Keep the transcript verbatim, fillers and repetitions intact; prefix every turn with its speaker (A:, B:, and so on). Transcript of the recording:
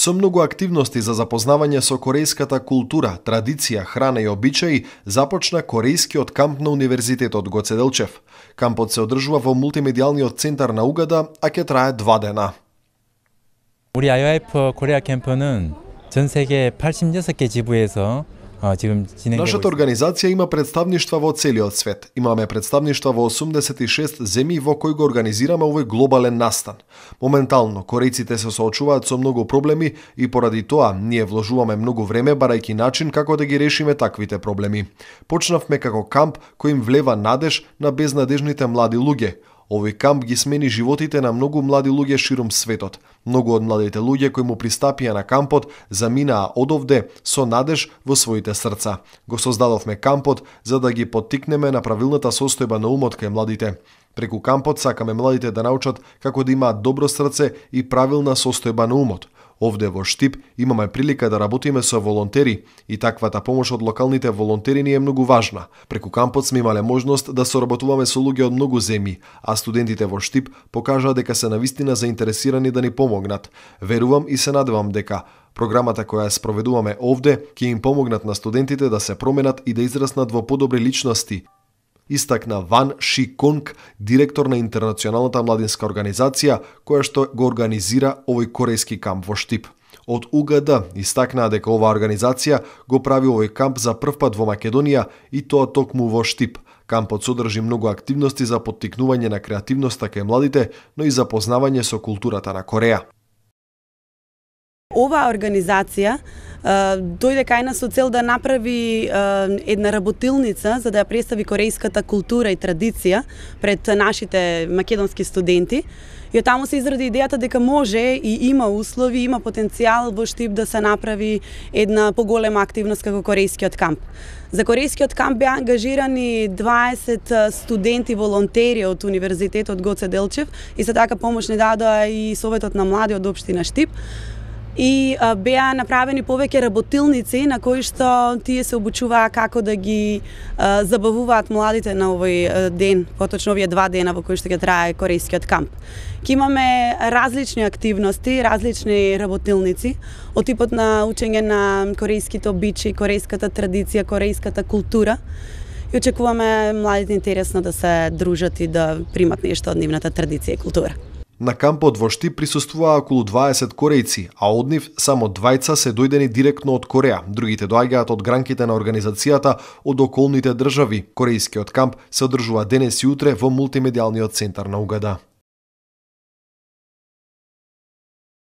A: Со многу активности за запознавање со корејската култура, традиција, храна и обичаи, започна корејскиот камп на Универзитетот Гоце Делчев. Кампот се одржува во мултимедијалниот центар на Угада, а ќе трае два дена.
B: 우리 아이와이프 코리아 캠프는 전 세계 팔십육 개 지부에서
A: Нашата организација има представништва во целиот свет. Имаме представништва во осумдесет и шест земји во кои го организираме овој глобален настан. Моментално, корејците се соочуваат со многу проблеми и поради тоа ние вложуваме многу време барајќи начин како да ги решиме таквите проблеми. Почнавме како камп кој им влева надеж на безнадежните млади луѓе. Овој камп ги смени животите на многу млади луѓе ширум светот. Многу од младите луѓе кои му пристапија на кампот заминаа одовде со надеж во своите срца. Го создадовме кампот за да ги поттикнеме на правилната состојба на умот кај младите. Преку кампот сакаме младите да научат како да имаат добро срце и правилна состојба на умот. Овде во Штип имаме прилика да работиме со волонтери и таквата помош од локалните волонтери ни е многу важна. Преку кампот сме имале можност да соработуваме со луѓе од многу земји, а студентите во Штип покажаа дека се навистина заинтересирани да ни помогнат. Верувам и се надевам дека програмата која ја спроведуваме овде ќе им помогнат на студентите да се променат и да израснат во подобри личности, истакна Ван Ши Конг, директор на Интернационалната младинска организација, која што го организира овој корејски камп во Штип. Од УГД истакнаа дека оваа организација го прави овој камп за прв пат во Македонија и тоа токму во Штип. Кампот содржи многу активности за поттикнување на креативноста кај младите, но и за познавање со културата на Кореја.
C: Оваа организација дојде кај нас со цел да направи една работилница за да ја представи корејската култура и традиција пред нашите македонски студенти. И од таму се изради идејата дека може и има услови, има потенцијал во Штип да се направи една поголема активност како корејскиот камп. За корејскиот камп беа ангажирани дваесет студенти волонтери од Универзитетот Гоце Делчев и за така помош ни дадоа и Советот на млади од општина Штип. И а, беа направени повеќе работилници на кои што тие се обучуваа како да ги а, забавуваат младите на овој а, ден, поточно овие два дена во кои што ќе трае корејскиот камп. Ке имаме различни активности, различни работилници од типот на учење на корејските обичаи, корејската традиција, корејската култура. И очекуваме младите интересно да се дружат и да примат нешто од нивната традиција и култура.
A: На кампот во Штип присуствуваа околу дваесет корејци, а од нив само двајца се дојдени директно од Кореја. Другите доаѓаат од гранките на организацијата од околните држави. Корејскиот камп се одржува денес и утре во мултимедијалниот центар на Угада.